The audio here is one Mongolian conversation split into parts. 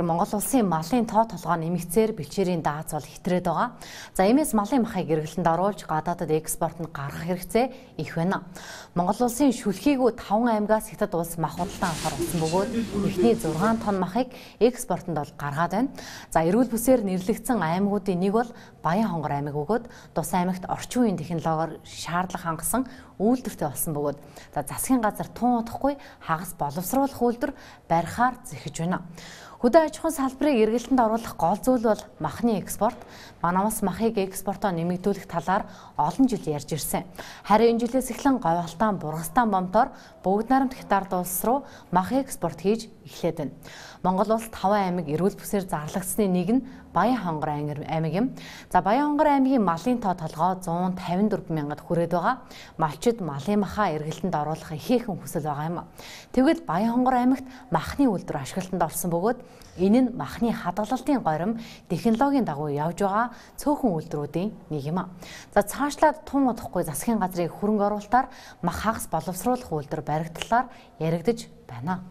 Тэгэхээр Монгол улсын малын тоо толгой нэмэгцээр бэлчээрийн дааз бол хэтрээд байгаа. За иймээс малын махыг эргэлтэнд оруулж гадаадад экспортод гаргах хэрэгцээ их байна. Монгол улсын шүлхийгүү 5 аймгаас Хятад улс мах худалдан авахар болсон бөгөөд эхний 6 тонн махыг экспортод бол гаргаад байна. За эрүүл бүсээр нэрлэгдсэн аймагуудын нэг бол Баян хонгор аймаг бөгөөд Тус аймагт орчин үеийн технологиор шаардлага хангасан үйлдвэртэй болсон бөгөөд засгийн газар тун удахгүй хагас боловсруулах үйлдвэр барихаар зэхэж байна. Хөдөө аж ахуйн салбарыг эргэлтэнд оруулах гол зүйл бол махны экспорт. Манайс махыг экспортоо нэмэгдүүлэх талаар олон жил ярьж ирсэн. Харин энэ жилээс эхлэн Говьалтан, Бургастан бомтоор Бүгд найрамд Хятад улс руу мах экспорт хийж эхлээд байна. Монгол улс 5 аймаг эрүүл бүсээр зарлагдсны нэг нь Баян хонгор аймаг юм. За Баян хонгор аймгийн малын тоо толгой 154 мянгад хүрээд байгаа. Малчид малын махаа эргэлтэнд оруулах ихээхэн хүсэл байгаа юм. Тэгвэл Баян хонгор аймагт махны үйлдвэр ашиглалтанд орсон бөгөөд энэ нь махны хадгалалтын горим технологийн дагуу явж байгаа цөөхөн үйлдвэрүүдийн нэг юм. За цаашлаад тун удахгүй засгийн газрын хөрөнгө оруулалтаар мах хагас боловсруулах үйлдвэр баригдлаар яригдж байна.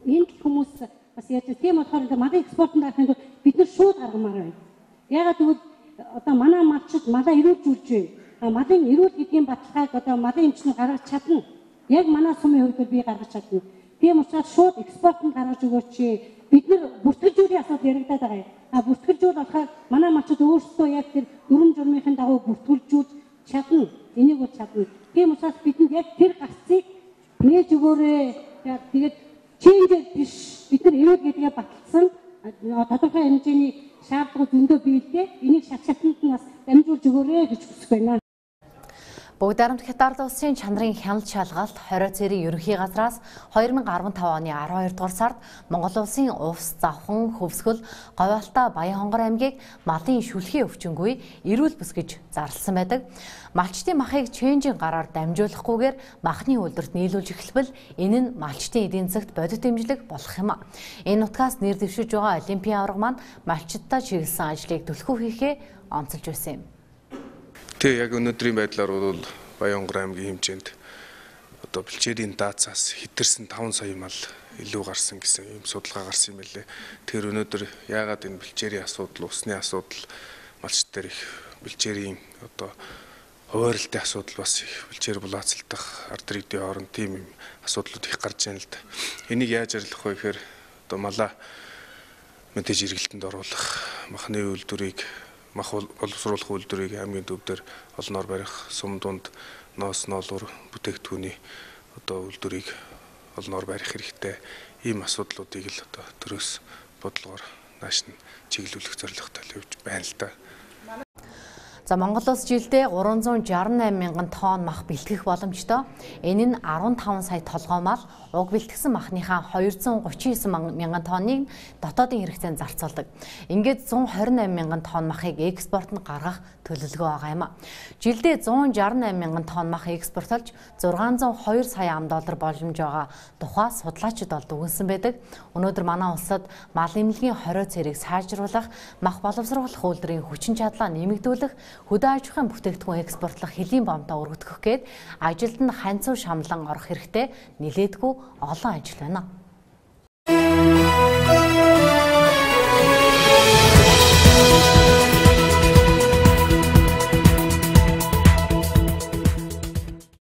Энд хүмүүс бас яаж тийм болохоор малын экспортод гарахын тулд бид нар шууд гаргамаар байна. Ягаад гэвэл одоо манай малчид малаа эрүүлжүүлж байна. Малын эрүүл гэдгийн баталгааг одоо малын эмчнэр гаргаж чадна. Яг манай сумын хувьд би гаргаж чадна. Тийм учраас шууд экспортод гаргаж өгөөч. Бид нар бүртгэлжүүлэх асуудал яригадаад байгаа юм. Бүртгэлжүүл болохоор манай малчид өөрсдөө яг тэр дүрм журмынхын дагуу бүртгэлжүүлж чадна. Энийг бол чадна. Тийм учраас бидэнд яг тэр гарцыг нээж өгөөрэй. Тэгээд чингээр биш бид нар эрүүл гэдгээ баталсан тодорхой хэмжээний шаардлага зөндөө биелдэг. Энийг шатшаатанд нь бас дамжуулж өгөөрэй гэж хүсэж байна. Бүгд найрамд Хятад улсын чанарын хяналт шалгалт 20 цэрийн ерөнхий газраас 2015 оны 12 дугаар сард Монгол улсын Увс, Завхан, Хөвсгөл, Говьалта, Баян хонгор аймгийг малын шүлхий өвчнгүй эрүүл бүс гэж зарласан байдаг. Малчтын махыг ченжийн гараар дамжуулахгүйгээр махны үйлдвэрт нийлүүлж эхэлбэл энэ нь малчтын эдийн засагт бодит дэмжлэг болох юм. Энэ нутгаас нэр дэвшиж байгаа Олимпийн аварга маань малчдаа чиглэсэн ажлыг түлхүү хийхээ онцолж байсан юм. Тэг яг өнөөдрийн байдлаар бол Баян хонгор аймгийн хэмжээнд одоо бэлчээрийн даацаас хэтэрсэн 5 сая мал илүү гарсан гэсэн юм судалгаа гарсан юм билээ. Тэгэхээр өнөөдөр яагаад энэ бэлчээрийн асуудал, усны асуудал, малчд дээр их бэлчээрийн одоо хуваарлтын асуудал бас их бэлчээр булаацалдах ард иргэдийн хооронд тийм юм асуудлууд их гарч байна л да. Энийг яаж арилгах вэ гэхээр одоо малаа мэдээж эргэлтэнд оруулах, махны үйлдвэрийг мах боловсруулах үйлдвэрийг аймгийн төвдөр олноор барих, сум дунд ноос ноолуур бүтээгдэхүүний одоо үйлдвэрийг олноор барих хэрэгтэй. Ийм асуудлуудыг л одоо төрөөс бодлогоор нааш нь чиглүүлэх зорилготой явж байна л да. За Монгол улс жилдээ 368 мянган тонн мах бэлтгэх боломжтой. Энэ нь 15 сая толгой мал, уг бэлтгэсэн махныхаа 239 мянган тонныг дотоодын хэрэгцээнд зарцуулдаг. Ингээд 128 мянган тонн махыг экспортод гаргах төлөвлөгөө байгаа юм. Жилдээ 168 мянган тонн мах экспортлж 602 сая ам доллар боломж байгаа тухай судлаачид бол дүгнсэн байдаг. Өнөөдөр манай улсад мал эмнэлгийн 20 цэрийг сайжруулах, мах боловсруулах үйлдвэрийн хүчин чадлаа нэмэгдүүлэх, хөдөө аж ахуйн бүтээгдэхүүн экспортлох хөлийн бомтоо өргөдгөх гээд ажилд нь ханцуу шамлан орох хэрэгтэй нэлээдгүй олон ажил байна.